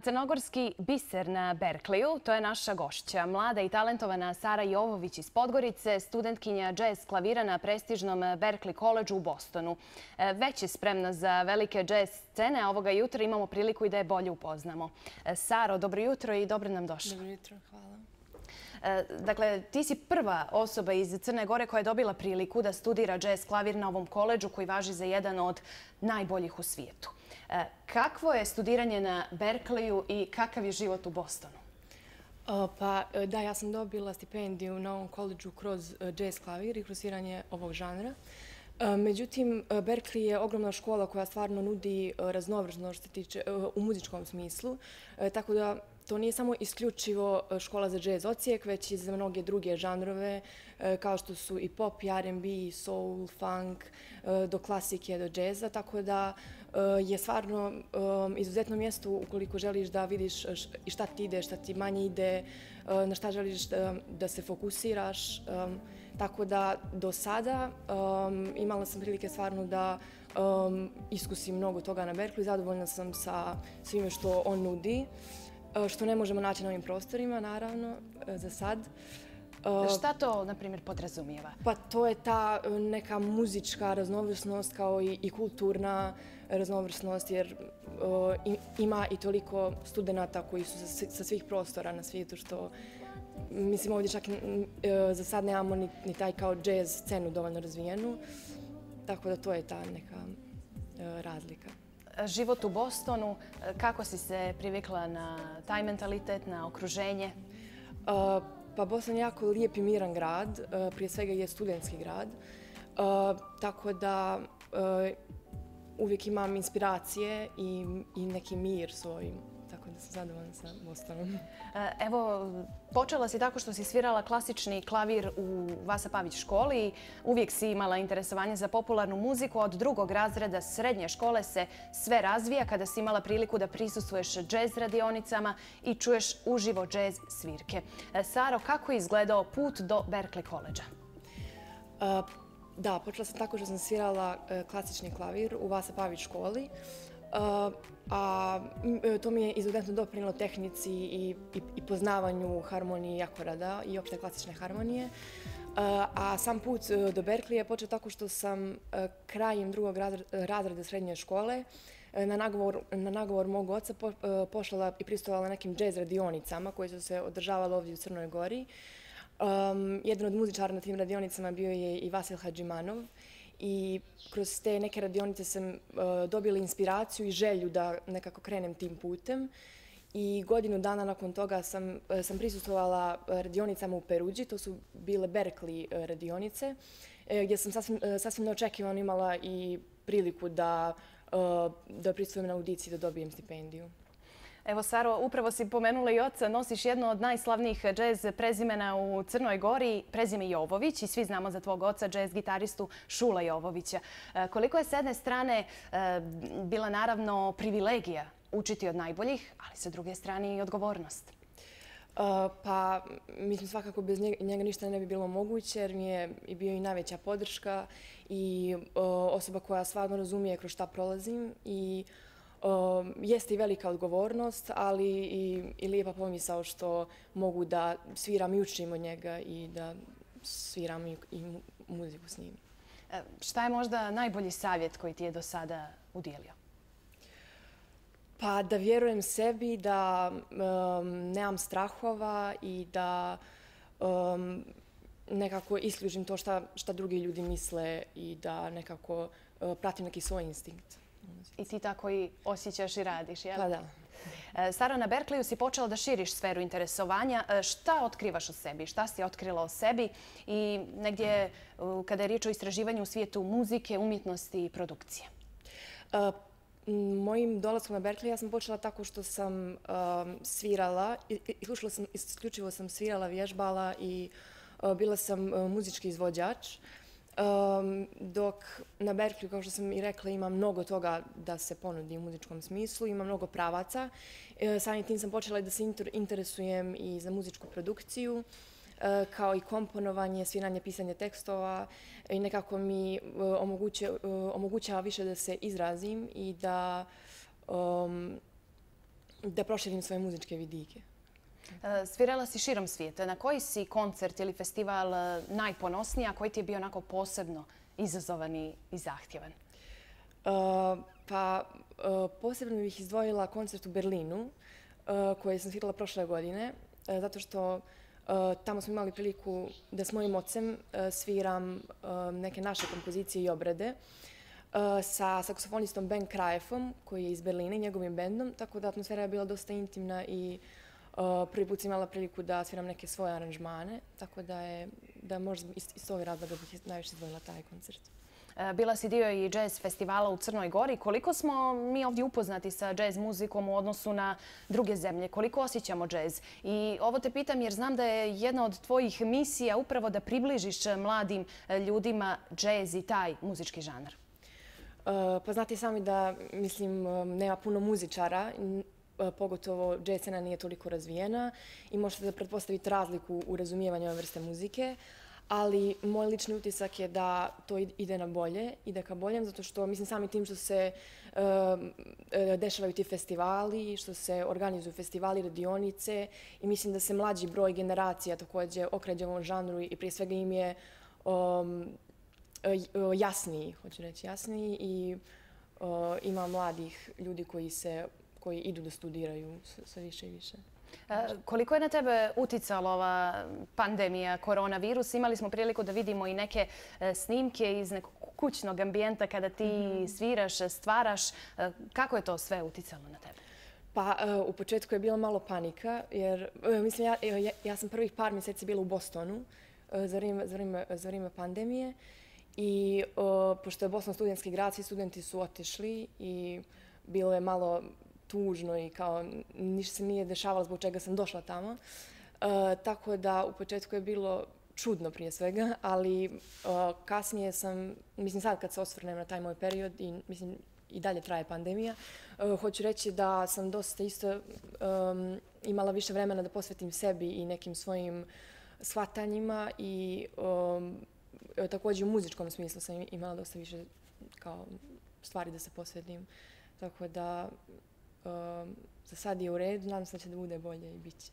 Crnogorski biser na Berkeleyu, to je naša gošća. Mlada i talentovana Sara Jovović iz Podgorice, studentkinja džez klavira na prestižnom Berklee Collegeu u Bostonu. Već je spremna za velike džez scene, a ovoga jutra imamo priliku i da je bolje upoznamo. Saro, dobro jutro i dobro nam došla. Dobro jutro, hvala. Dakle, ti si prva osoba iz Crne Gore koja je dobila priliku da studira džez klavir na ovom koledžu koji važi za jedan od najboljih u svijetu. Kakvo je studiranje na Berkeleyu i kakav je život u Bostonu? Ja sam dobila stipendiju na ovom koledžu kroz džez klavir i kroz sviranje ovog žanra. Međutim, Berkeley je ogromna škola koja stvarno nudi raznovrsnost što se tiče u muzičkom smislu, tako da to nije samo isključivo škola za džez odsjek, već i za mnoge druge žanrove, kao što su i pop, i R&B, i soul, funk, do klasike, do džeza, tako da je stvarno izuzetno mjesto ukoliko želiš da vidiš i šta ti ide, šta ti manje ide, na šta želiš da se fokusiraš. Tako da do sada imala sam prilike stvarno da iskusim mnogo toga na Berkeleyu. Zadovoljna sam sa svime što on nudi, što ne možemo naći na ovim prostorima, naravno, za sad. Šta to, na primjer, podrazumijeva? Pa to je ta neka muzička raznovrsnost kao i kulturna raznovrsnost, jer ima i toliko studenata koji su sa svih prostora na svijetu, što mislim ovdje čak za sad nemamo ni taj kao džez scenu dovoljno razvijenu, tako da to je ta neka razlika. Život u Bostonu, kako si se privikla na taj mentalitet, na okruženje? Pa Boston je jako lijep i miran grad, prije svega je studentski grad, tako da uvijek imam inspiracije i neki mir svoj, tako da sam zadovoljna sa Bostonom. Evo, počela si tako što si svirala klasični klavir u Vasa Pavić školi. Uvijek si imala interesovanje za popularnu muziku. Od drugog razreda srednje škole se sve razvija kada si imala priliku da prisustvuješ džez radionicama i čuješ uživo džez svirke. Saro, kako je izgledao put do Berklee Collegea? Da, počela sam tako što sam svirala klasični klavir u Vasa Pavić školi. A to mi je izuzetno doprinijelo tehnici i poznavanju harmonije i akorada i opšte klasične harmonije. A sam put do Berkeleya je počeo tako što sam krajem drugog razreda srednje škole na nagovor mog oca pošla i prisustvovala nekim džez radionicama koje su se održavale ovdje u Crnoj Gori. Jedan od muzičara na tim radionicama bio je i Vasil Hadžimanov. I kroz te neke radionice sam dobila inspiraciju i želju da nekako krenem tim putem. I godinu dana nakon toga sam prisustvovala radionicama u Perudži, to su bile Berklee radionice, gdje sam sasvim neočekivano imala i priliku da prisustvujem na audiciji da dobijem stipendiju. Evo, Saro, upravo si pomenula i oca, nosiš jedno od najslavnijih džez prezimena u Crnoj Gori, prezime Jovović, i svi znamo za tvog oca, džez gitaristu Šula Jovovića. Koliko je s jedne strane bila naravno privilegija učiti od najboljih, ali sa druge strane i odgovornost? Pa, mislim, svakako bez njega ništa ne bi bilo moguće, jer mi je bio i najveća podrška i osoba koja stvarno razumije kroz šta prolazim i jeste i velika odgovornost, ali i lijepa pomisao što mogu da sviram i učim od njega i da sviram i muziku s njim. Šta je možda najbolji savjet koji ti je do sada udijelio? Pa da vjerujem sebi, da nemam strahova i da nekako isključim to šta drugi ljudi misle i da nekako pratim neki svoj instinkt. I ti tako i osjećaš i radiš, jel? Pa da. Saro, na Berkeleyu si počela da širiš sferu interesovanja. Šta otkrivaš o sebi? Šta si otkrila o sebi? I negdje, kada je riječ o istraživanju u svijetu muzike, umjetnosti i produkcije? Mojim dolaskom na Berkeleyu ja sam počela tako što sam svirala, isključivo sam svirala, vježbala i bila sam muzički izvođač. Dok na Berkeleyu, kao što sam i rekla, ima mnogo toga da se ponudi u muzičkom smislu, ima mnogo pravaca. Samim tim sam počela da se interesujem i za muzičku produkciju, kao i komponovanje, sviranje, pisanje tekstova i nekako mi omogućava više da se izrazim i da proširim svoje muzičke vidike. Svirala si širom svijeta. Na koji si koncert ili festival najponosnija, koji ti je bio onako posebno izazovan i zahtjevan? Posebno bih izdvojila koncert u Berlinu koji sam svirala prošle godine, zato što tamo smo imali priliku da s mojim ocem sviram neke naše kompozicije i obrade sa saksofonistom Ben Krajefom, koji je iz Berlina i njegovim bendom, tako da atmosfera je bila dosta intimna i prvi put sam imala priliku da sviram neke svoje aranžmane, tako da možda iz tog razloga bih najviše izdvojila taj koncert. Bila si dio i jazz festivala u Crnoj Gori. Koliko smo mi ovdje upoznati sa jazz muzikom u odnosu na druge zemlje? Koliko osjećamo jazz? I ovo te pitam jer znam da je jedna od tvojih misija upravo da približiš mladim ljudima jazz i taj muzički žanr. Pa znate i sami da, mislim, nema puno muzičara, pogotovo jazz scena nije toliko razvijena i možete da pretpostavite razliku u razumijevanju ove vrste muzike. Ali moj lični utisak je da to ide na bolje, ide ka boljem, zato što mislim sami tim što se dešavaju ti festivali, što se organizuju festivali, radionice i mislim da se mlađi broj generacija također okreće ovom žanru i prije svega im je jasniji, hoću reći jasniji i ima mladih ljudi koji idu da studiraju sve više i više. Koliko je na tebe uticala ova pandemija, koronavirus? Imali smo priliku da vidimo i neke snimke iz nekog kućnog ambijenta kada ti sviraš, stvaraš. Kako je to sve uticalo na tebe? Pa u početku je bila malo panika jer mislim ja sam prvih par mjeseci bila u Bostonu za vrijeme pandemije i pošto je Boston studentski grad, svi studenti su otišli i bilo je malo tužno i kao ništa se nije dešavalo zbog čega sam došla tamo. Tako da u početku je bilo čudno prije svega, ali kasnije sam, mislim sad kad se osvrnem na taj moj period i mislim i dalje traje pandemija, hoću reći da sam dosta isto imala više vremena da posvetim sebi i nekim svojim shvatanjima i također u muzičkom smislu sam imala dosta više kao stvari da se posvetim. Tako da za sad je u redu, nadam se da će da bude bolje i bit će.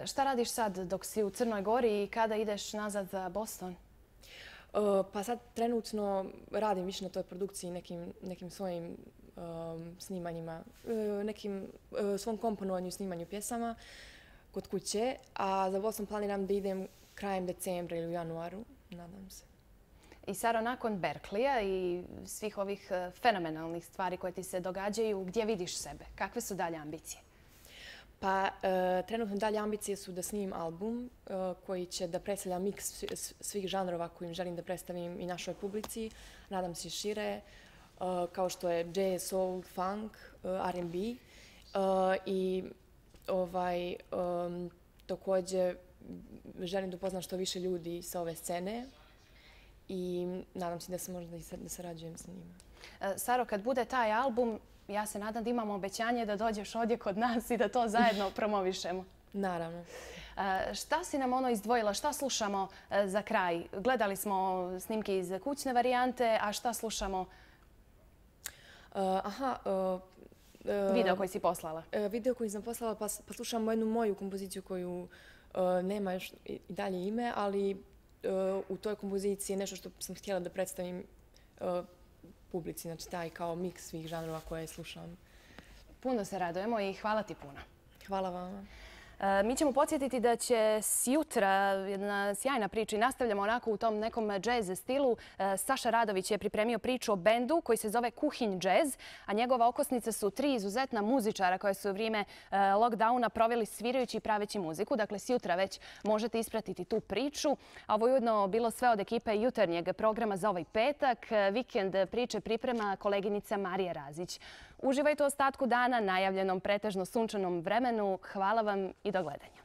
Šta radiš sad dok si u Crnoj Gori i kada ideš nazad za Boston? Pa sad trenutno radim više na toj produkciji, nekim svojim snimanjima, nekim svom komponovanju i snimanju pjesama kod kuće, a za Boston planiram da idem krajem decembra ili u januaru, nadam se. I Saro, nakon Berkleya i svih ovih fenomenalnih stvari koje ti se događaju, gdje vidiš sebe? Kakve su dalje ambicije? Pa trenutno dalje ambicije su da snimim album koji će da predstavlja miks svih žanrova kojim želim da predstavim i našoj publici. Nadam se šire, kao što je jazz, soul, funk, R&B. I također želim da upoznam što više ljudi sa ove scene i nadam se da se možda da sarađujem sa njima. Saro, kad bude taj album, ja se nadam da imamo obećanje da dođeš ovdje kod nas i da to zajedno promovišemo. Naravno. Šta si nam izdvojila? Šta slušamo za kraj? Gledali smo snimke iz kućne varijante, a šta slušamo? Video koji si poslala. Video koji sam poslala, pa slušamo jednu moju kompoziciju koju nema još i dalje ime, ali u toj kompoziciji je nešto što sam htjela da predstavim publici, znači taj kao miks svih žanrova koje slušam. Puno se radujemo i hvala ti puno. Hvala vama. Mi ćemo podsjetiti da će sutra jedna sjajna priča i nastavljamo onako u tom nekom džez stilu. Saša Radović je pripremio priču o bendu koji se zove Kuhinj jazz, a njegova okosnica su 3 izuzetna muzičara koje su u vrijeme lockdowna proveli svirajući i praveći muziku. Dakle, sutra već možete ispratiti tu priču. A ovo je ujedno bilo sve od ekipe jutarnjeg programa za ovaj petak. Vikend priče priprema koleginica Marija Razić. Uživajte u ostatku dana, najavljenom pretežno sunčanom vremenu. Hvala vam i do gledanja.